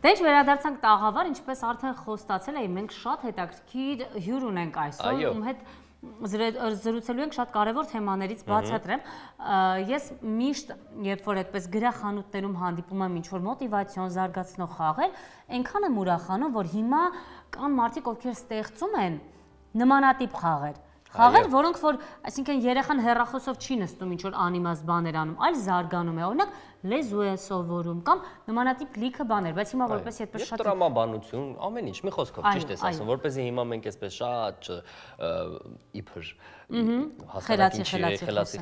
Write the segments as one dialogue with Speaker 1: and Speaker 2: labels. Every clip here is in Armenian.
Speaker 1: Դե ինչ վերադարձանք տաղավար, ինչպես արդեն խոստացել էի, մենք շատ հետաքրքիր հյուր ունենք այսօր, ում հետ զրուցելու ենք շատ կարևոր թեմաներից բացատրեմ։ Ես միշտ, երբ որ այդպես գրախանութներում հանդիպում եմ ինչ-որ մոտիվացիոն զարգացնող խաղեր, այնքան եմ ուրախանում, որ հիմա կան մարդիկ, ովքեր ստեղծում են նմանատիպ խաղեր։ Խաղեր, որոնք որ, այսինքն երեխան հեռախոսով չի նստում ինչ-որ անիմաստ բաներ անում, այլ զարգանում է, օրինակ լեզու է սովորում կամ նմանատիպ լիքը բաներ, բայց հիմա որպես այդպես շատ
Speaker 2: տրամաբանություն, ամեն ինչ, մի խոսքով ճիշտ ես ասում, որպեսզի հիմա մենք այսպես շատ իբր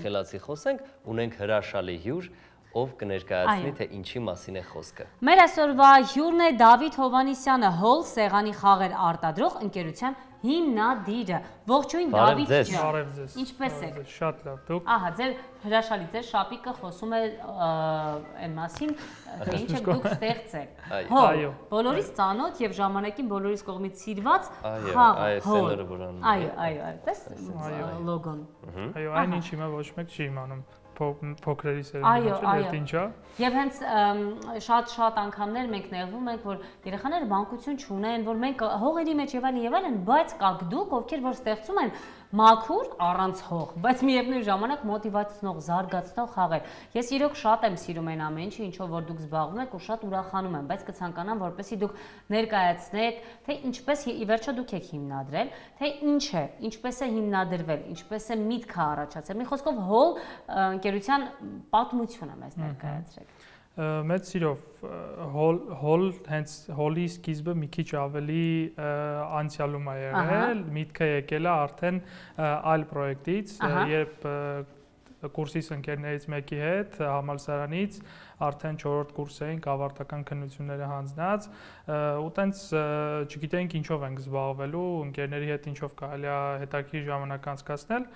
Speaker 2: խելացի խոսենք, ունենք հրաշալի հյուր, ով կներկայացնի, թե ինչի մասին է խոսքը։
Speaker 1: Մեր այսօրվա հյուրն է Դավիթ Հովհաննիսյանը, Հոլ սեղանի խաղեր արտադրող ընկերության հիմնադիրը։ Ողջույն Դավիթ ջան։
Speaker 3: Բարև ձեզ։
Speaker 1: Ինչպե՞ս եք։
Speaker 3: Շատ լավ, դուք։
Speaker 1: Ահա, ձեր հրաշալի, ձեր շապիկը խոսում է այն մասին, թե ինչ եք դուք ստեղծել։ Հոլ, բոլորիս ծանոթ եւ ժամանակին բոլորիս կողմից սիրված խաղ։ Այո, տես լոգոն։
Speaker 3: Այո, այնինչ հիմա ոչ մեկ չի իմանում։ Փոքրերի սերնդի ինչա։
Speaker 1: Եվ հենց շատ անգամներ մենք նեղվում ենք, որ երեխաները մանկություն չունեն, որ մենք հողերի մեջ եւ այլն, բայց կաք դուք, ովքեր որ ստեղծում են մաքուր առանց հող, բայց միևնույն ժամանակ մոտիվացնող, զարգացնող խաղեր։ Ես իրոք շատ եմ սիրում այն ամեն ինչը, ինչով որ դուք զբաղվում եք ու շատ ուրախանում եմ, բայց կցանկանամ, որպեսզի դուք ներկայացնեք, թե ինչպես ի վերջո դուք եք հիմնադրել, թե ինչ է, ինչպես է հիմնադրվել, ինչպես է միտքը առաջացել։ Մի խոսքով հոլ ընկերության պատմությունը մեզ ներկայացրեք։
Speaker 3: Մեծ սիրով հոլ հենց հոլի սկիզբը մի քիչ ավելի անցյալում է եղել, միտքը եկել է արդեն այլ պրոյեկտից, երբ կուրսիս ընկերներից մեկի հետ համալսարանից արդեն 4-րդ կուրս էինք, ավարտական քննությունները հանձնած, ու տենց չգիտեինք ինչով ենք զբաղվելու, ընկերների հետ ինչով կարելի է հետաքրքիր ժամանակ անցկացնել,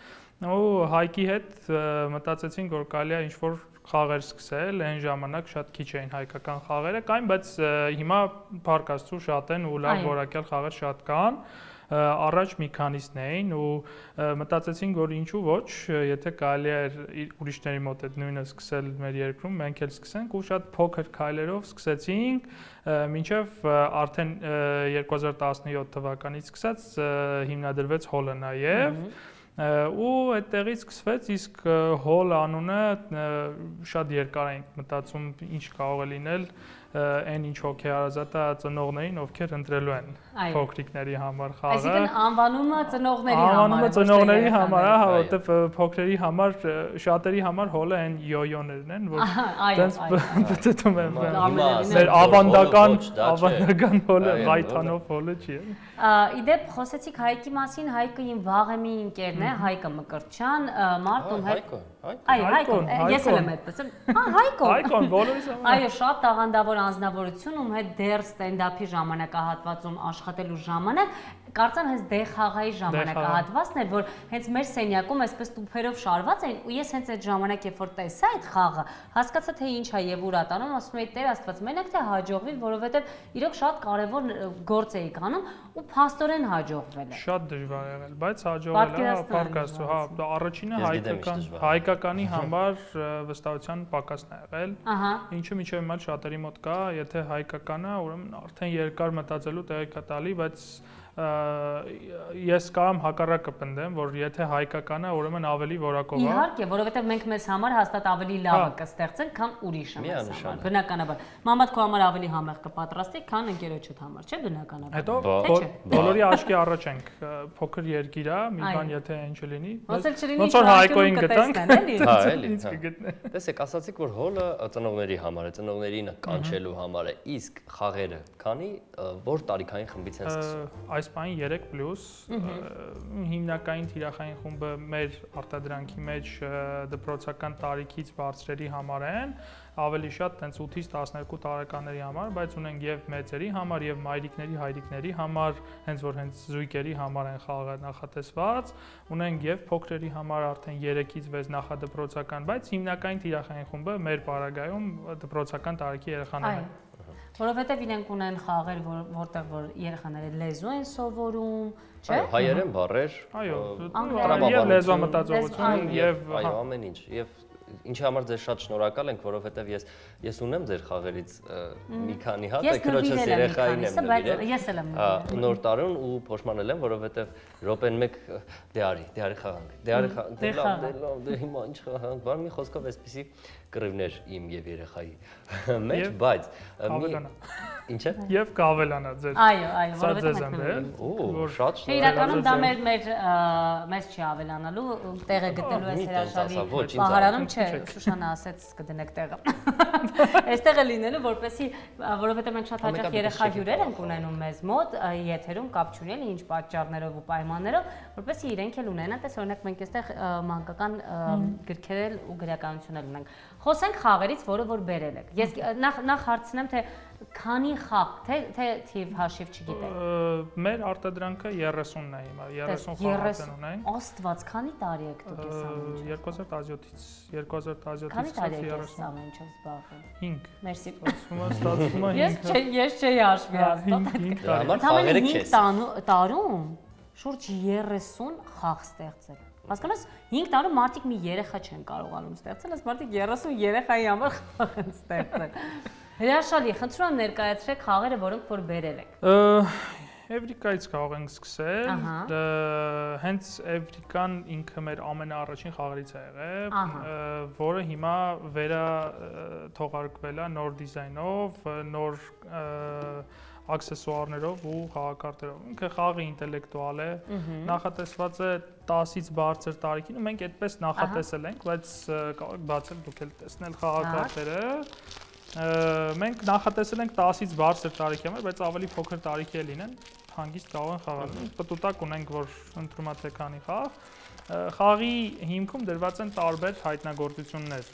Speaker 3: ու Հայկի հետ մտածեցինք, որ կարելի է ինչ-որ խաղեր սկսել, այն ժամանակ շատ քիչ էին հայկական խաղերը կային, բայց հիմա փառք Աստծո շատ են ու լավ որակյալ խաղեր շատ կան, առաջ մի քանիսն էին ու մտածեցինք, որ ինչու ոչ, եթե կարելի է ուրիշների մոտ այդ նույնը սկսել մեր երկրում, մենք էլ սկսենք ու շատ փոքր քայլերով սկսեցինք, մինչև արդեն 2017 թվականից սկսած հիմնադրվեց հոլը նաև ու այդտեղից սկսվեց, իսկ հոլ անունը շատ երկար ենք մտածում ինչ կարող է լինել այն ինչ հոգեհարազատ է ծնողներին, ովքեր ընտրելու են փոքրիկների համար խաղը։
Speaker 1: Այսինքն անվանումը ծնողների համար։
Speaker 3: Անվանումը ծնողների համար, հա, որովհետև փոքրերի համար, շատերի համար հոլը այն յոյոներն են, որ տենց բծում են։ Մեր ավանդական հոլը, ղայթանով հոլը չի։
Speaker 1: Իդեպ խոսեցիք Հայկի մասին, Հայկը իմ վաղեմի ընկերն է, Հայկը Մկրտչյան, մարդ ում հետ։ Այո, Հայկոն, ես էլ եմ այդպես։ Հայկոն։ Հայկոն, բոլորիս համար։ Այո, շատ տաղանդավոր անձնավորություն, ում հետ դեռ ստենդափի ժամանակահատվածում աշխատելու ժամանակ, կարծեմ հենց դե խաղայի ժամանակահատվածն էր, որ հենց մեր սենյակում այսպես տուփերով շարված էին, ու ես հենց այդ ժամանակ երբ որ տեսա այդ խաղը, հասկացա թե ինչ է եւ ուր ատանում, ասում էի Տեր Աստված, մենակ թե հաջողվի, որովհետեւ իրոք շատ կարեւոր գործ էի անում ու փաստորեն հաջողվել է։
Speaker 3: Շատ դժվար եղել, բայց հաջողվել է, փառք Աստծո, հա, առաջինը հայկականի համար վստահության պակասն է եղել, ինչը մինչև հիմա շատերի մոտ կա, եթե հայկականը, ուրեմն արդեն երկար մտածելու տեղի կա տալի, բայց ես կարամ հակառակը պնդեմ, որ եթե հայկականը, ուրեմն ավելի որակով է։
Speaker 1: Իհարկե, որովհետև մենք մեզ համար հաստատ ավելի լավը կստեղծենք, քան ուրիշը մեզ համար, բնականաբար։ Մամադ քո համար ավելի համեղ կպատրաստի, քան ընկերոջդ համար, չէ՞ բնականաբար։
Speaker 3: Հետո բոլորի աչքի առաջ ենք, փոքր երկիր է, մի բան եթե այն չլինի, ոնց որ Հայկոին գտանք,
Speaker 2: հա, էլի։ Տեսեք, ասացիք, որ հոլը ծնողների համար է, ծնողներին կանչելու համար է, իսկ խաղերը քանի որ տարիքային խմբից են սկսում։
Speaker 3: Այս բանի 3+, հիմնակային թիրախային խումբը մեր արտադրանքի մեջ դպրոցական տարիքից բարձրերի համար են, ավելի շատ տենց 8-ից 12 տարեկանների համար, բայց ունենք եւ մեծերի համար եւ մայրիկների, հայրիկների համար, հենց որ հենց զույգերի համար են խաղը նախատեսված, ունենք եւ փոքրերի համար արդեն 3-ից 6 նախադպրոցական, բայց հիմնակային թիրախային խումբը մեր պարագայում դպրոցական տարիքի երեխաներն են։
Speaker 1: Որովհետև իրենք ունեն խաղեր, որտեղ որ երեխաները լեզու են սովորում, չէ՞։
Speaker 2: Այո, հայերեն բառեր,
Speaker 3: այո, եւ լեզվամտածողություն, եւ
Speaker 2: այո, ամեն ինչ, եւ ինչի համար ձեզ շատ շնորհակալ ենք, որովհետև ես ունեմ ձեր խաղերից մի քանի հատ, քրոջս երեխային եմ նվիրել։
Speaker 1: Ես էլ եմ նվիրել։
Speaker 2: Նոր տարուն ու փոշմանել եմ, որովհետև րոպեն մեկ դե արի խաղանք։ Դե հիմա ինչ խաղանք, բան մի խոսքով էսպիսի կռիվներ իմ եւ երեխայի մեջ, բայց Ինչ է։
Speaker 3: Եվ կավելանա ձեր։
Speaker 1: Այո, որովհետև
Speaker 2: Օ, շատ շնորհակալ։
Speaker 1: Իրականում դա մեզ չի ավելանալու, տեղը գտնելու է հրաշալի պահարանում, չէ, Շուշանը ասեց կդնեք տեղը։ Այստեղը լինելու, որովհետև մենք շատ հաճախ երեխա հյուրեր ենք ունենում մեզ մոտ, եթերում կապ չունի ինչ պատճառներով ու պայմաններով, որպեսզի իրենք էլ ունենան, տես օրինակ մենք այստեղ մանկական գրքեր ու գրականություն ունենք։ Խոսենք խաղերից, որը որ բերել եք։ Ես նախ հարցնեմ, թե քանի խաղ, թե թիվ հաշիվ չգիտեք։
Speaker 3: Մեր արտադրանքը 30-ն է հիմա, 30 խաղացան ունենք։
Speaker 1: Աստված, քանի տարի եք դուք այս ամենից։
Speaker 3: 2017-ից
Speaker 1: Քանի տարի եք այս ամենից զբաղվում։
Speaker 3: 5։
Speaker 1: Մերսի։
Speaker 3: Ստացվում է 5։
Speaker 1: Ես չէի հաշվի
Speaker 2: Համար
Speaker 1: 5 տարում շուրջ 30 խաղ ստեղծել։ Հասկանաս 5 տարում մարդիկ մի երեխա չեն կարողանում ստեղծել, այս մարդիկ 30 երեխայի համար խաղ են ստեղծել։ Հրաշալի, խնդրում եմ ներկայացրեք խաղերը, որոնք որ բերել եք։
Speaker 3: Էվրիկայից կարող ենք սկսել, հենց Էվրիկան ինքը մեր ամենաառաջին խաղերից է եղել, որը հիմա թողարկվել է նոր դիզայնով, նոր աքսեսուարներով ու խաղակարտերով։ Ինքը խաղի ինտելեկտուալ է, նախատեսված է 10-ից բարձր տարիքին, ու մենք այդպես նախատեսել ենք, բայց կարող եք բացել դուք էլ տեսնել խաղակարտերը։ Մենք նախատեսել ենք 10-ից բարձր տարիքի համար, բայց ավելի փոքր տարիքի է լինեն, հանգիստ կարող են խաղալ։ Պտուտակ ունենք, որ ընտրում եք քանի խաղ։ Խաղի հիմքում դրված են տարբեր հայտնագործություններ։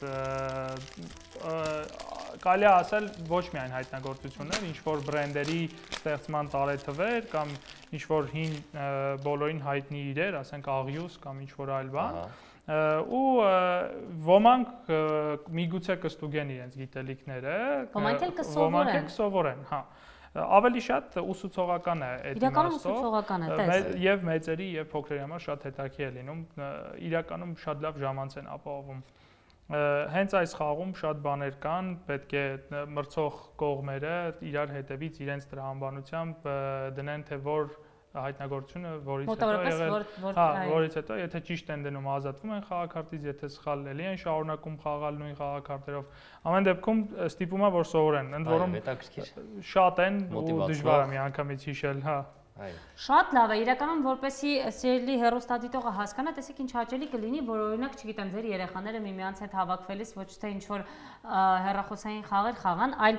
Speaker 3: Կարելի է ասել ոչ միայն հայտնագործություններ, ինչ որ բրենդերի ստեղծման տարեթվեր կամ ինչ որ հին բոլորին հայտնի իրեր, ասենք աղյուս կամ ինչ որ այլ բան։ Ու ոմանք միգուցե կստուգեն իրենց գիտելիքները,
Speaker 1: ոմանք էլ
Speaker 3: կսովորեն, հա։ Ավելի շատ ուսուցողական է այդ
Speaker 1: իրականում ուսուցողական է, տես։
Speaker 3: Եվ մեծերի եւ փոքրերի համար շատ հետաքրքիր է լինում, իրականում շատ լավ ժամանց են ապահովում։ Հենց այս խաղում շատ բաներ կան, պետք է մրցող կողմերը իրար հետևից իրենց տրամաբանությամբ դնեն, թե որ հայտնագործությունը որից հետո եթե ճիշտ են դնում ազատվում են խաղակարտից, եթե սխալ էլի են շարունակում խաղալ նույն խաղակարտերով, ամեն դեպքում ստիպում է որ սովորեն, ընդ որում շատ են ու դժվար է միանգամից հիշել, հա։
Speaker 1: Շատ լավ է, իրականում որպեսզի սիրելի հեռուստադիտողը հասկանա, տեսեք ինչ հաճելի կլինի, որ օրինակ, չգիտեմ, ձեր երեխաները միմյանց հետ հավաքվելիս ոչ թե ինչ որ հեռախոսային խաղեր խաղան, այլ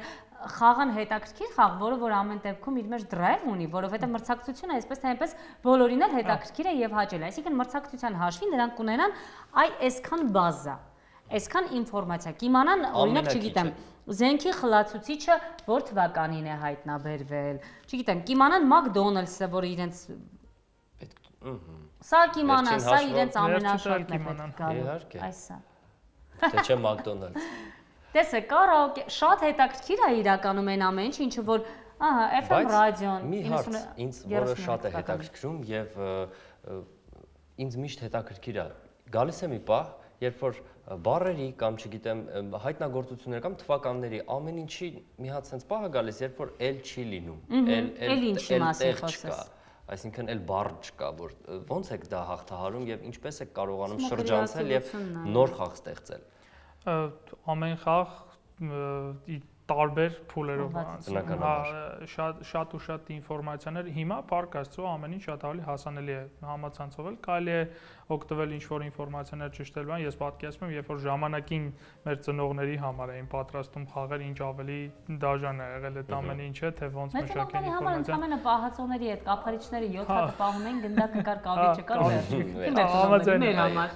Speaker 1: խաղան հետաքրքիր խաղ, որը որ ամեն դեպքում իր մեջ դրայվ ունի, որովհետև մրցակցությունը այսպես թե այնպես բոլորին էլ հետաքրքիր է եւ հաճելի։ Այսինքն մրցակցության հաշվին նրանք կունենան այսքան բազա, այսքան ինֆորմացիա, կիմանան, օրինակ, չգիտեմ, զենքի խլացուցիչը որ թվականին է հայտնաբերվել, չգիտեմ, կիմանան McDonald's-ը, որ իրենց սա կիմանան, սա իրենց ամենաշատն է պետք գալու, այսա։
Speaker 2: Թե չէ McDonald's։
Speaker 1: Տեսեք, կարաոկե, շատ հետաքրքիր է իրականում այն ամեն ինչ, ինչը որ, ահա, FM ռադիոն,
Speaker 2: մի հարց, ինձ որը շատ է հետաքրքրում եւ ինձ միշտ հետաքրքիր է։ Գալիս է մի պահ, երբ որ բառերի կամ չգիտեմ հայտնագործություններ կամ թվականների ամեն ինչի մի հատ sense պահ է գալիս, երբ որ էլ չի լինում,
Speaker 1: էլ ինչի մասին խոսես։
Speaker 2: Այսինքն էլ բառ չկա, որ ոնց եք դա հաղթահարում եւ ինչպես եք կարողանում շրջանցել եւ նոր խաղ ստեղծել։
Speaker 3: Ամեն խաղ տարբեր փուլերով շատ ու շատ ինֆորմացիաներ հիմա парք աստծո ամեն ինչ շատ ավելի հասանելի է համացանցով կարելի է օգտվել ինչ որ ինֆորմացիաներ ճշտելու են ես պատկերացնում եմ երբ որ ժամանակին մեր ծնողների համար էին պատրաստում խաղեր ինչ ավելի դաժան է եղել այդ ամեն ինչը թե ոնց մշակել ինֆորմացիան
Speaker 1: ամենը պահածոների հետ կափարիչները 7 հատ պահում են գնդակը կար կավիճը կար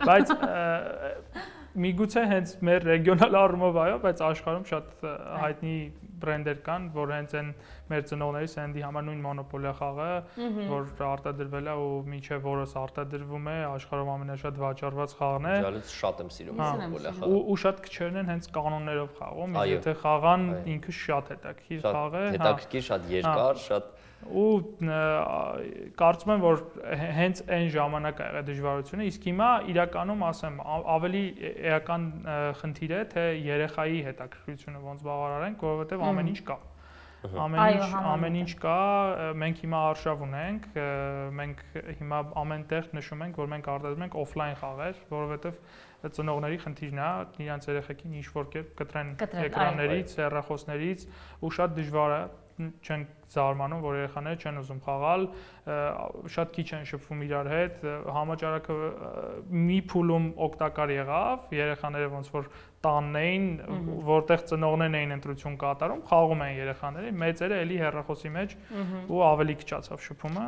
Speaker 3: բայց միգուցե հենց մեր ռեգիոնալ առումով այո, բայց աշխարհում շատ հայտնի բրենդեր կան, որ հենց են մեր ծնողների սենդի համար նույն մոնոպոլիա խաղը, որ արտադրվել է ու մինչև որս արտադրվում է, աշխարհում ամենաշատ վաճառված խաղն է։
Speaker 2: Իդեալից շատ եմ սիրում մոնոպոլիա խաղը։
Speaker 3: Ու շատ քչերն են հենց կանոններով խաղում, եթե խաղան ինքը շատ հետաքրքիր խաղ է,
Speaker 2: հետաքրքիր, շատ երկար, շատ
Speaker 3: ու կարծում եմ, որ հենց այն ժամանակ ա եղել դժվարությունը, իսկ հիմա իրականում ասեմ, ավելի էական խնդիր է, թե երեխայի հետաքրքրությունը ոնց բավարարենք, որովհետև ամեն ինչ կա։ Ամեն ինչ կա, մենք հիմա արշավ ունենք, մենք հիմա ամենտեղ նշում ենք, որ մենք արտադրում ենք օֆլայն խաղեր, որովհետև ծնողների խնդիրն է, իրանց երեխեքին ինչ-որ կերպ կտրեն էկրաններից, հեռախոսներից ու շատ դժվար է, չեն զարմանում, որ երեխաները չեն ուզում խաղալ, շատ քիչ են շփվում իրար հետ, համաճարակը մի փուլում օգտակար եղավ, երեխաները ոնց որ տանն էին, որտեղ ծնողներն էին ընտրություն կատարում, խաղում էին երեխաները, մեծերը էլի հեռախոսի մեջ ու ավելի քչացավ շփումը։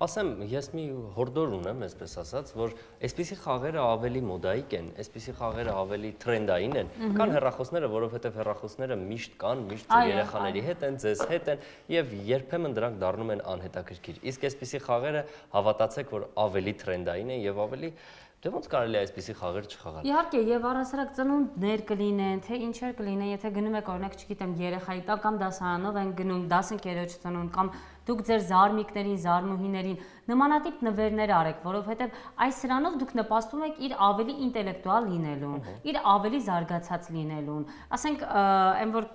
Speaker 2: Ասեմ, ես մի հորդոր ունեմ, այսպես ասած, որ այսպիսի խաղերը ավելի մոդայիկ են, այսպիսի խաղերը ավելի թրենդային են, կան հեռախոսները, որովհետև հեռախոսները միշտ կան, միշտ երեխաների հետ են, ձեզ հետ են, եւ երբեմն դրանք դառնում են անհետաքրքիր։ Իսկ այսպիսի խաղերը հավատացեք, որ ավելի թրենդային են եւ ավելի Դե ոնց կարելի է այսպիսի խաղեր չխաղալ։
Speaker 1: Իհարկե, եւ առասարակ ծնունդներ կլինեն, թե ինչեր կլինեն, եթե գնում եք օրինակ, չգիտեմ, երեխայի տակ կամ դասարանով են գնում, դասընկերոջ ծնունդ կամ դուք ձեր զարմիկներին, զարմուհիներին նմանատիպ նվերներ արեք, որովհետեւ այս սրանով դուք նպաստում եք իր ավելի ինտելեկտուալ լինելուն, իր ավելի զարգացած լինելուն։ Ասենք, այն որ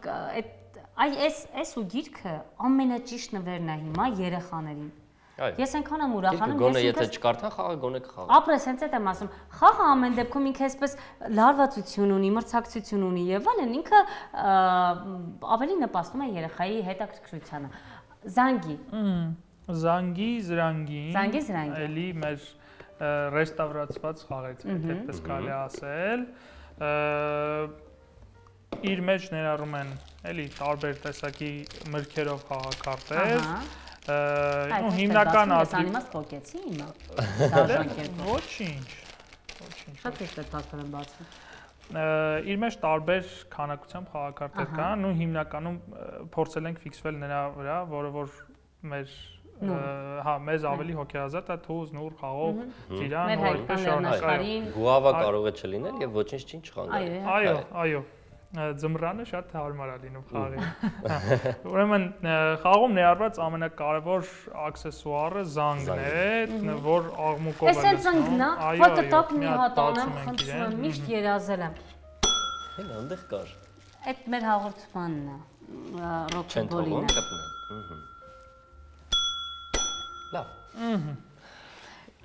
Speaker 1: այս ու գիրքը ամենաճիշտ նվերն է հիմա երեխաներին։ Ես այնքան եմ ուրախանում,
Speaker 2: գոնե եթե չկարդան խաղը գոնե կխաղա։
Speaker 1: Ապրես, հենց այդ եմ ասում, խաղը ամեն դեպքում ինքը այսպես լարվածություն ունի, մրցակցություն ունի եւ այլն, ինքը ավելի նպաստում է երեխայի հետաքրքրությանը։ Զանգի,
Speaker 3: էլի մեր ռեստավրացված խաղից, այդպես կարելի ասել։ Իր մեջ ներառում են էլի տարբեր տեսակի մրգերով խաղակարտեր։ Հիմնական
Speaker 1: ազգի փոկեցի հիմա դաշնակերպ
Speaker 3: ոչինչ
Speaker 1: շատ հեշտ է տակը բացվում
Speaker 3: իր մեջ տարբեր քանակությամբ խաղակարտեր կան ու հիմնականում փորձել ենք ֆիքսվել նրա վրա որը որ մեզ ավելի հոգեազատ է թուզ նուր խաղող ծիրան
Speaker 1: ու այդպես շարունակային
Speaker 2: գուավա կարող է չլինել եւ ոչինչ չխանգարի
Speaker 3: այո Ձմռանը շատ հարմար է լինում խաղին։ Ուրեմն խաղում ներառված ամենակարևոր աքսեսուարը զանգն է, որ աղմուկով է
Speaker 1: լցնում։ Էս զանգն է, հոտը տակ մի հատ անեմ, խնդրում եմ, միշտ երազել եմ։
Speaker 2: Հենց այնտեղ կար։
Speaker 1: Այդ մեր հաղորդմանն է, ռոքբոլին է։
Speaker 2: Լավ։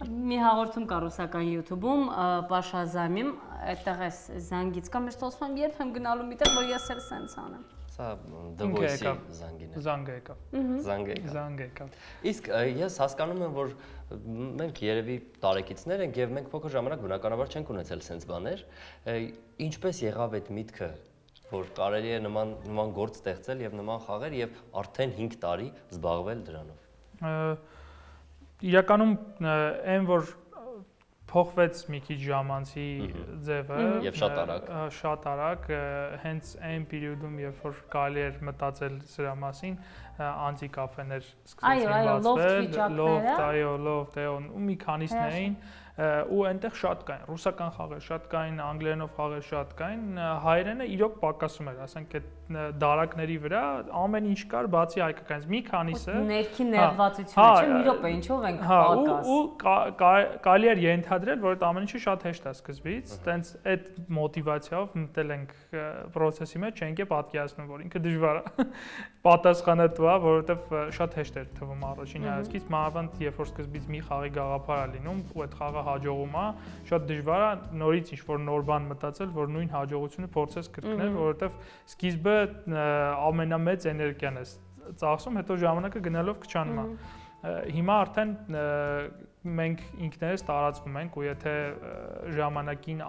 Speaker 1: Մի հաղորդում կա ռուսական YouTube-ում, Պաշազամիմ, այդտեղ էս զանգից կա, միշտ ասում եմ, երբ եմ գնալու միտեղ, որ ես էլ սենց անեմ։
Speaker 2: Սա դվոյսի զանգին է։
Speaker 3: Զանգ եկավ։
Speaker 2: Իսկ ես հասկանում եմ, որ մենք երևի տարեկիցներ ենք եւ մենք փոքր ժամանակ բնականաբար չենք ունեցել սենց բաներ, ինչպես եղավ այդ միտքը, որ կարելի է նման գործ ստեղծել եւ նման խաղեր եւ արդեն 5 տարի զբաղվել դրանով։
Speaker 3: Իրականում այն որ փոխվեց մի քիչ ժամանցի ձևը
Speaker 2: եւ շատ արագ հենց այն պերիոդում երբ որ կարելի էր մտածել սրա մասին անձի կաֆեներ սկսեցին բացվել լոֆտ ու մի քանիսն էին ու այնտեղ շատ կային ռուսական խաղեր շատ կային անգլերենով խաղեր շատ կային հայերենը իրոք պակասում էր ասենք այդ դարակների վրա ամեն ինչ կար բացի հայկականից մի քանիսը
Speaker 1: ներքին ներվածությունը չէ մի րոպե ինչով ենք պակաս
Speaker 3: ու կարելի էր ենթադրել որ այդ ամեն ինչը շատ հեշտ է սկզբից տենց այդ մոտիվացիայով մտել ենք process-ի մեջ չենք է պատկերացնում որ ինքը դժվար է պատասխանատու է որովհետև շատ հեշտ էր թվում առաջին հայացքից մանավանդ երբ որ սկզբից մի խաղի գաղափար է լինում ու այդ խաղը հաջողում է շատ դժվար է նորից ինչ-որ նոր բան մտածել, որ նույն հաջողությունը փորձես կրկնել, որովհետև սկիզբը ամենամեծ էներգիան է ծախսում, հետո ժամանակը գնալով քչանում է։ Հիմա արդեն մենք ինքներս տարածվում ենք ու եթե ժամանակին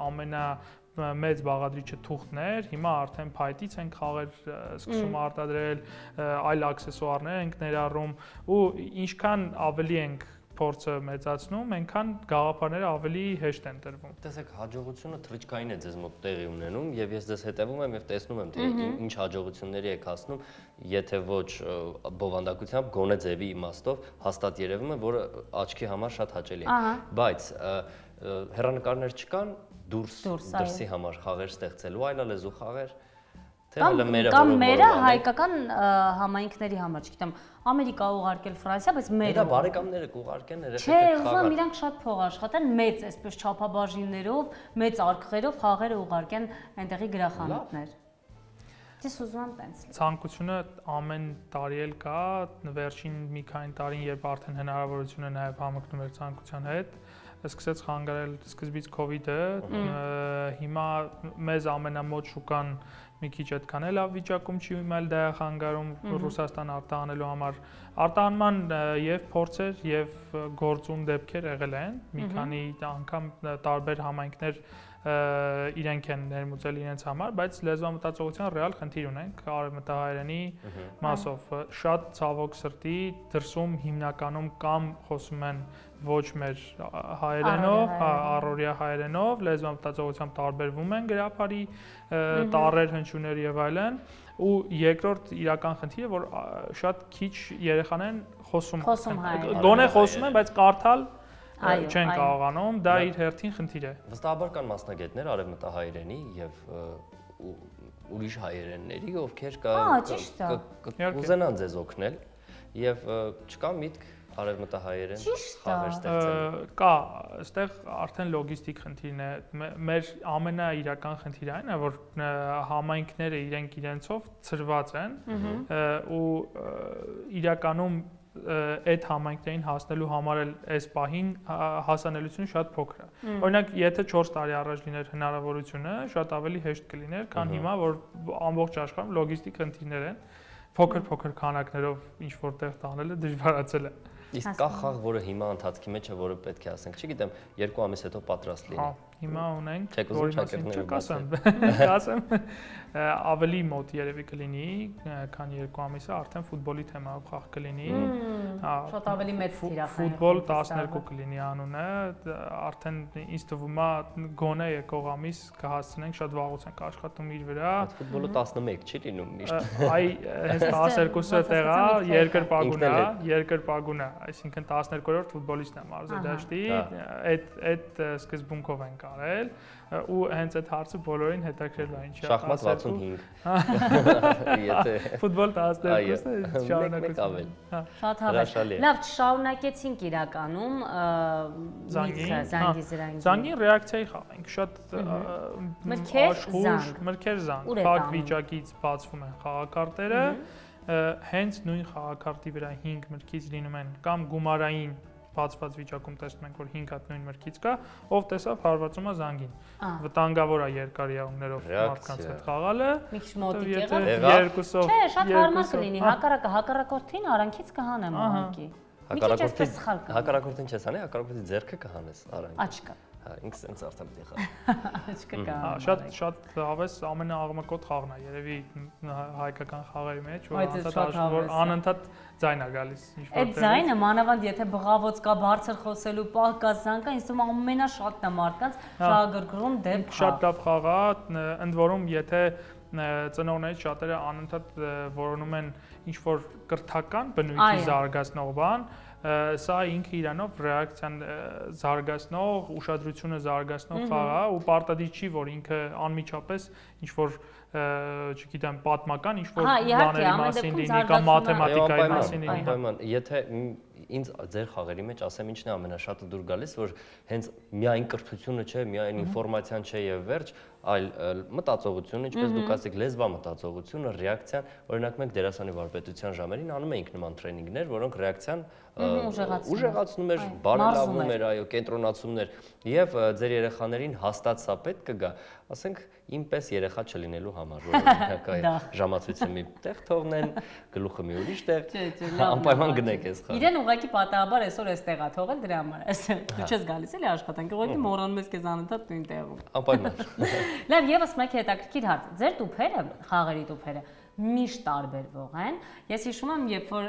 Speaker 3: մեծ բաղադրիչը թուղթն էր, հիմա արդեն փայտից ենք խաղեր սկսում արտադրել, այլ աքսեսուարներ ենք ներառում ու ինչքան ավելի ենք փորձը մեծացնում, այնքան գաղափարները ավելի հեշտ են տրվում։
Speaker 2: Տեսեք, հաջողությունը թռիչքային է ձեզ մոտ տեղի ունենում եւ ես ձեզ հետևում եմ եւ տեսնում եմ թե ինչ հաջողությունների եք հասնում, եթե ոչ բովանդակությամբ, գոնե ձևի իմաստով հաստատ երևում է, որը աչքի համար շատ հաճելի է։ Բայց հեռանկարներ չկան դրսի համար խաղեր ստեղծելու, այլալեզու խաղեր։
Speaker 1: Կամ մերը հայկական համայնքների համար, չգիտեմ, Ամերիկա ուղարկել Ֆրանսիա, բայց մեր
Speaker 2: դա բարեկամները կուղարկեն երեխեքը
Speaker 1: Չէ, ուզում եմ իրանք շատ փող աշխատեն, մեծ այսպես չափաբաժիններով, մեծ արկղերով խաղերը ուղարկեն այնտեղի գրախանութներ։ Ես ուզում եմ տենց։
Speaker 3: Ցանկությունը ամեն տարի էլ կա, վերջին մի քանի տարին, երբ արդեն հնարավորությունը նաև համընկնում էր ցանկության հետ, սկսեց խանգարել սկզբից COVID-ը, հիմա մեզ ամենամոտ շուկան մի քիչ այդքան էլ լավ վիճակում չի, այլ դա է խանգարում Ռուսաստան արտահանելու համար։ Արտահանման եւ փորձեր եւ գործուն դեպքեր եղել են, մի քանի անգամ տարբեր համայնքներ իրենք են ներմուծել իրենց համար, բայց լեզվամտածողության ռեալ խնդիր ունենք արևմտահայերենի մասով։ Շատ ցավոք սրտի դրսում հիմնականում կամ խոսում են ոչ մեր հայերենով, առօրյա հայերենով, լեզվամտածողությամբ տարբերվում են գրաբարի տառեր, հնչյուններ եւ այլն, ու երկրորդ իրական խնդիրը, որ շատ քիչ երեխաներ խոսում գոնե խոսում են, բայց կարդալ չեն կարողանում, դա իր հերթին խնդիր է։
Speaker 2: Վստահաբար կան մասնագետներ արևմտահայերենի եւ ուրիշ հայերենների, ովքեր կուզենան ձեզ օգնել եւ չկա միտք արևմտահայերեն խաղեր ստեղծել։
Speaker 3: Կա, այստեղ արդեն լոգիստիկ խնդիրն է։ Մեր ամենաիրական խնդիրը այն է, որ համայնքները իրենցով ծրված են ու իրականում այդ համայնքներին հասնելու համար էլ այս պահին հասանելիությունը շատ փոքր է։ Օրինակ, եթե 4 տարի առաջ լիներ հնարավորությունը, շատ ավելի հեշտ կլիներ, քան հիմա, որ ամբողջ աշխարհում լոգիստիկ խնդիրներ են, փոքր քանակներով ինչ որտեղ տանելը դժվարացել է։
Speaker 2: Իսկ կա խաղ, որը հիմա ընթացքի մեջ է, որը պետք է ասենք, չգիտեմ, 2 ամիս հետո պատրաստ լինի։
Speaker 3: Հիմա ունենք,
Speaker 2: որ
Speaker 3: ասեմ, ավելի մոտ երևի կլինի, քան 2 ամիսը արդեն ֆուտբոլի թեմայով խաղ կլինի։
Speaker 1: Շատ ավելի մեծ թիրախային։
Speaker 3: Ֆուտբոլ 12 կլինի անունը, արդեն ինձ թվում է գոնե եկող ամիս կհասցնենք, շատ վաղուց ենք աշխատում իր վրա։
Speaker 2: Ֆուտբոլը 11 չի լինում միշտ։
Speaker 3: Այ հենց 12-ը տեղա երկրպագուն է, այսինքն 12-րդ ֆուտբոլիստն է մարզադաշտի, այդ սկզբունքով ենք արել ու հենց այդ հարցը բոլորին հետաքրքրել է ինչ է։
Speaker 2: Շախմատ 65։ Եթե
Speaker 3: ֆուտբոլ 12-ը
Speaker 2: շարունակություն։
Speaker 1: Շատ հավես։ Լավ, չշարունակեցինք իրականում զանգի զրանգի։
Speaker 3: Զանգին ռեակցիայի խաղ ենք, շատ մրգեր զանգ, փակ վիճակից բացվում են խաղակարտերը, հենց նույն խաղակարտի վրա 5 մրգից լինում են կամ գումարային բացված վիճակում տեսնում ենք, որ 5 հատ նույն մրգից կա, ով տեսավ հարվածում է զանգին։ Վտանգավոր է երկար իրավունքներով մարդկանց հետ խաղալը։
Speaker 1: Մի քիչ մոտիկ եղավ։
Speaker 3: Երկուսով։
Speaker 1: Չէ, շատ հարմար կլինի, հակառակորդին արանքից կհանեմ ուղղակի։
Speaker 2: Հակառակորդին չես անի, հակառակորդի ձեռքը կհանես արանքից։
Speaker 1: Աչքը։
Speaker 2: Ինքս sense արդեն պետք է
Speaker 1: Աչքը կա։
Speaker 3: Շատ հավես ամենաաղմկոտ խաղն է երևի հայկական խաղերի մեջ, որ անընդհատ ձայն է գալիս ինչ-որ։
Speaker 1: Այդ ձայնը մանավանդ եթե բղավոց կա, բարձր խոսելու պահ կա, զանգա, ինձ թվում ամենաշատն է մարդկանց շահագրգռում դեպք։
Speaker 3: Շատ լավ խաղ է, ընդ որում եթե ծնողներից շատերը անընդհատ որոնում են ինչ-որ կրթական բնույթի զարգացնող բան, սա ինքը իրանով ռեակցիան զարգացնող, ուշադրությունը զարգացնող խաղ է ու պարտադիր չի, որ ինքը անմիջապես ինչ-որ չգիտեմ, պատմական ինչ-որ բաների մասին լինի կամ մաթեմատիկայի մասին լինի։
Speaker 2: Անպայման, եթե ինձ ձեր խաղերի մեջ ասեմ ինչն է ամենաշատը դուր գալիս, որ հենց միայն կրթությունը չէ, միայն ինֆորմացիան չէ եւ վերջ, այլ մտածողությունը, ինչպես դուք ասեք, լեզվամտածողությունը, ռեակցիան, օրինակ մենք դերասանի վարպետության ժամերին անում էինք նման տրեյնինգներ, որոնք ռեակցիան ուժեղացնում էր, բարելավում էր, այո, կենտրոնացում էր եւ ձեր երեխաներին հաստատ սա պետք կգա, ասենք իմ պես երեխա չլինելու համար, որ օրինակ այ ժամացույցը մի տեղ թողնեն, գլուխը մի ուրիշ տեղ, անպայման գնեք այս խաղը։
Speaker 1: Իրեն ուղղակի պատահաբար այսօր էստեղ է թողել դրա համար, դու չես գալիս էլի աշխատանք, ուղղակի մոռանում ես քեզ անընդհատ նույն տեղում։
Speaker 2: Անպայման։
Speaker 1: Լավ, եւս մեկ հետաքրքիր հարց, ձեր տուփերը, խաղերի տուփերը միշտ տարբերվող են։ Ես հիշում եմ, երբ որ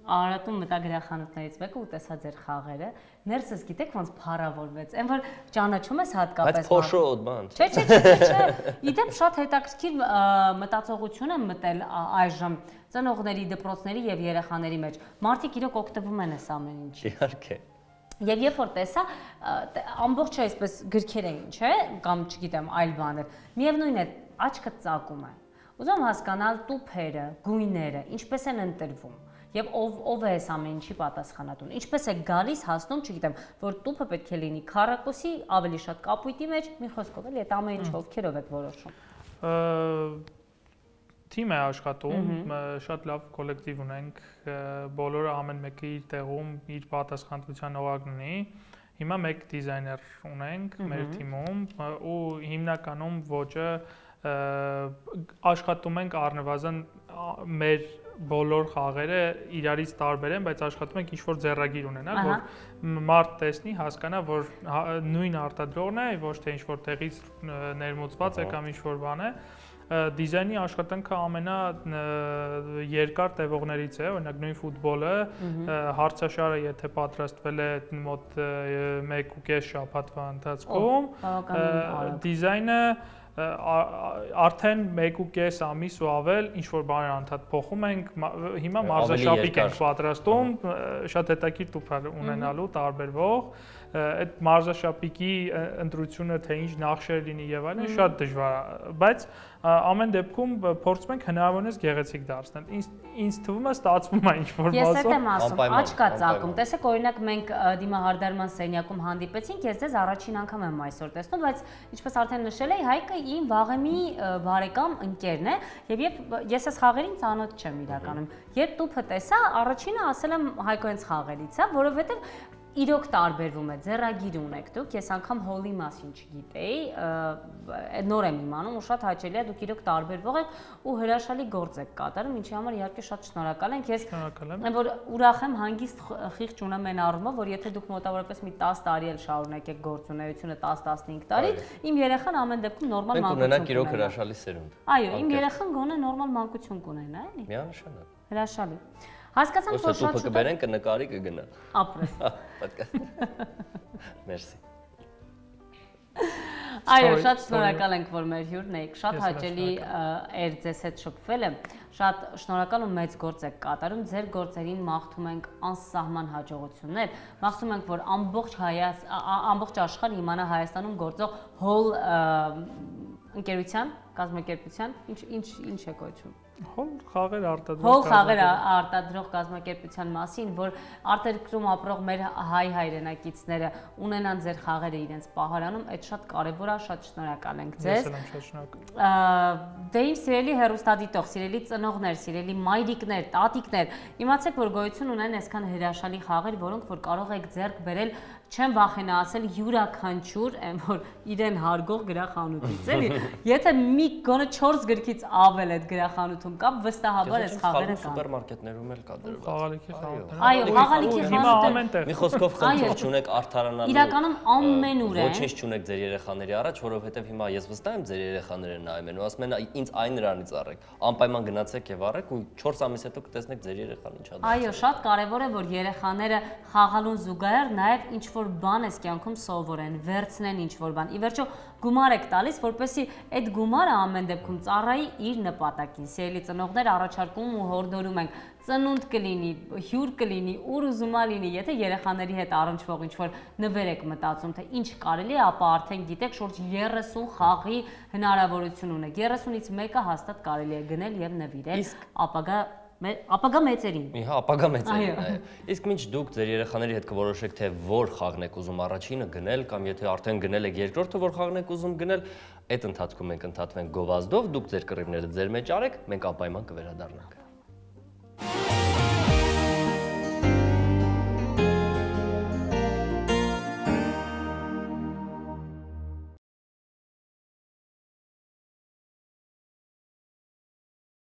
Speaker 1: Արարատում մտա գրախանութներից մեկը ու տեսա ձեր խաղերը, ներսս գիտեք ոնց փառավորվեց, այն որ ճանաչում ես հատկապես։
Speaker 2: Բայց փոշոտ բան։
Speaker 1: Չէ։ Իդեպ շատ հետաքրքիր մտածողություն եմ մտել այժմ ծնողների, դպրոցների եւ երեխաների մեջ։ Մարդիկ իրոք օգտվում են այս ամեն ինչից։
Speaker 2: Իհարկե։
Speaker 1: Եվ երբ որ տեսա, ամբողջ այսպես գրքեր էին, չէ՞, կամ չգիտեմ, այլ բաներ։ Միևնույն է, աչքը ծակում է։ Ուզում հասկանալ տուփերը, գույները, ինչպես են ընտրվում եւ ով է այս ամեն ինչի պատասխանատուն։ Ինչպես է գալիս հասնում, չգիտեմ, որ տուփը պետք է լինի քառակուսի, ավելի շատ կապույտի մեջ, մի խոսքով էլի, այդ ամեն ինչը ովքերով եք որոշում։
Speaker 3: Թիմ է աշխատում, շատ լավ կոլեկտիվ ունենք, բոլորը ամեն մեկը իր տեղում իր պատասխանատվության օղակն ունի։ Հիմա մեկ դիզայներ ունենք մեր թիմում ու հիմնականում ոճը աշխատում ենք առնվազն մեր բոլոր խաղերը իրարից տարբեր են, բայց աշխատում ենք ինչ-որ ձեռագիր ունենալ, որ մարդ տեսնի, հասկանա, որ նույն արտադրողն է, ոչ թե ինչ-որ տեղից ներմուծված է կամ ինչ-որ բան է։ Դիզայնի աշխատանքը ամենաերկար տևողներից է, օրինակ նույն ֆուտբոլը, հարցաշարը եթե պատրաստվել է մոտ 1.5 շաբաթվա ընթացքում, դիզայնը արդեն 1.5 ամիս ու ավել ինչ-որ բաներ անդադ փոխում ենք, հիմա մարզաշապիկ ենք պատրաստում, շատ հետաքրքիր տուփ ունենալու տարբերվող, այդ մարզաշապիկի ընտրությունը թե ինչ նախշեր լինի եւ այլն շատ դժվար է, բայց ամեն դեպքում փորձում ենք հնարավորինս գեղեցիկ դարձնել։ Ինձ թվում է ստացվում է ինչ-որ
Speaker 1: մասով։ Ես այդ եմ ասում, աչք կա ծակում։ Տեսեք, օրինակ մենք դիմահարդարման սենյակում հանդիպեցինք, ես ձեզ առաջին անգամ եմ այսօր տեսնում, բայց ինչպես արդեն նշել էի, Հայկը իմ վաղեմի բարեկամ ընկերն է, եւ ես այս խաղերին ծանոթ չեմ իրականում։ Երբ տուփը տեսա, առաջինը ասել եմ Հայկո հենց խաղերից է, որովհետեւ իրոք տարբերվում է, ձեռագիր ունեք դուք, ես անգամ հոլի մասին չգիտեի, նոր եմ իմանում ու շատ հաճելի է, դուք իրոք տարբերվող եք ու հրաշալի գործ եք կատարում, ինչի համար իհարկե շատ շնորհակալ ենք, ես որ ուրախ եմ, հանգիստ խիղճ ունեմ այն առումով, որ եթե դուք մոտավորապես մի 10 տարի էլ շարունակեք գործունեությունը 10-15 տարի, իմ երեխան ամեն դեպքում նորմալ մանկություն կունենա։
Speaker 2: Մենք ունենանք իրոք հրաշալի սերունդ։
Speaker 1: Այո, իմ երեխան գոնե նորմալ մանկություն կունենա, էլի։
Speaker 2: Միանշանակ։
Speaker 1: Հրաշալի։ Հասկացանք, որ շատ շուտ
Speaker 2: կբերեն, կնկարի, կգնա։
Speaker 1: Ապրես։
Speaker 2: Մերսի։
Speaker 1: Այո, շատ շնորհակալ ենք, որ մեր հյուրն եք, շատ հաճելի էր ձեզ հետ շփվելը, շատ շնորհակալ ու մեծ գործ եք կատարում, ձեր գործերին մաղթում ենք անսահման հաջողություններ, մաղթում ենք, որ ամբողջ աշխարհը իմանա Հայաստանում գործող հոլ ընկերության, կազմակերպության, ինչ է կոչվում։
Speaker 3: Հոլ խաղեր արտադրող
Speaker 1: Հոլ խաղեր արտադրող կազմակերպության մասին, որ արտերկրում ապրող մեր հայ հայրենակիցները ունենան ձեր խաղերը իրենց պահարանում, այդ շատ կարևոր է, շատ շնորհակալ ենք ձեզ։
Speaker 3: Ես եմ շատ շնորհակալ։
Speaker 1: Դե իմ սիրելի հեռուստադիտող, սիրելի ծնողներ, սիրելի մայրիկներ, տատիկներ, իմացեք, որ գոյություն ունեն այսքան հրաշալի խաղեր, որոնք որ կարող եք ձեռք բերել, չեմ վախենա ասել յուրաքանչյուր, որ իրեն հարգող գրախանութից, էլի։ Եթե մի գոնե 4 գրքից ավել այդ գրախանութում կա, վստահաբար այս խաղերը կան։
Speaker 2: Սուպերմարկետներում էլ կա դրված։
Speaker 3: Խաղալիքի խանութ։
Speaker 1: Այո, խաղալիքի խանութը։
Speaker 2: Մի խոսքով խնդիր չունեք արդարանալու։
Speaker 1: Իրականում ամենուր է։
Speaker 2: Ոչինչ չունեք ձեր երեխաների առաջ, որովհետև հիմա ես վստահ եմ ձեր երեխաները նայում են ու ասում են ինձ այն նրանից առեք։ Անպայման գնացեք եւ առեք ու 4 ամիս հետո կտեսնեք ձեր երեխան ինչա դարձել։
Speaker 1: Այո, շատ կարևոր է, որ երեխաները խաղալուն զուգահեռ նաեւ ինչ-որ բան էս կյանքում սովորեն, վերցնեն ինչ-որ բան։ Ի վերջո գումար եք տալիս, որպեսզի այդ գումարը ամեն դեպքում ծառայի իր նպատակին։ Սիրելի ծնողներ, առաջարկում ու հորդորում ենք, ծնունդ կլինի, հյուր կլինի, ուր ուզում ա լինի, եթե երեխաների հետ առնչվող ինչ-որ նվեր եք մտածում, թե ինչ կարելի է, ապա արդեն գիտեք, շուրջ 30 խաղի հնարավորություն ունեք։ 30-ից մեկը հաստատ կարելի է գնել եւ նվիրել ապագա մեծերին։
Speaker 2: Հա, ապագա մեծերին, այո։ Իսկ մինչ դուք ձեր երեխաների հետ կորոշեք, թե որ խաղն եք ուզում առաջինը գնել կամ եթե արդեն գնել եք երկրորդը, որ խաղն եք ուզում գնել, այդ ընթացքում մենք ընդհատվենք գովազդով, դուք ձեր կռիվները ձեր մեջ արեք, մենք անպայման կվերադառնանք։